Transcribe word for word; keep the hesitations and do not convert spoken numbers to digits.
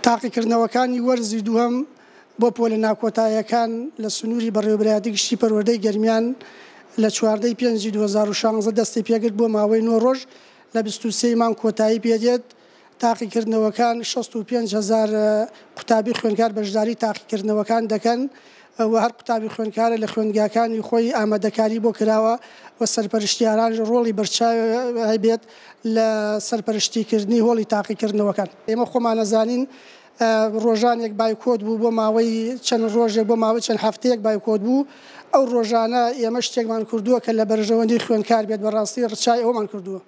تاقیکردنەوەکانی وەرزی دووەم بۆ پۆلە ناکۆتاییەکان لە سنووری بەڕێوەبەرایەتی گشتی پەروەردەی گەرمیان لە چواردە ی پێنجی دوو هەزار و شازدە دەستی پێکرد بۆ ماوەی نۆ ڕۆژ لە بیست و سێ ی مانگ کۆتایی پێدێت. تاقیکردنەوەکان شەست و پێنج هەزار قوتابی خوێندکار بەشداری تاقیکردنەوەکان دەکەن و هەر قوتابی خوێندکارە لە خوێندگاکانی خۆی ئامادەکاری بۆ کراوە و سەرپەرشتیاران ڕۆڵی بەرچاو هەبێت لە سەرپەرشتیکردنی هۆڵی تاقیکردنەوەکان. ئێمە خۆمان ئەزانین ڕۆژانێک بایکۆت بوو بۆ ماوەی چەند ڕۆژێک بۆ ماوەی چەند هەفتەیەک بایکۆت بوو، ئەو ڕۆژانە ئێمە شتێکمان کردووە کە لە بەرژەوەندی خوێندکار بێت، بەڕاستی ڕچای ئەوەمان کردووە.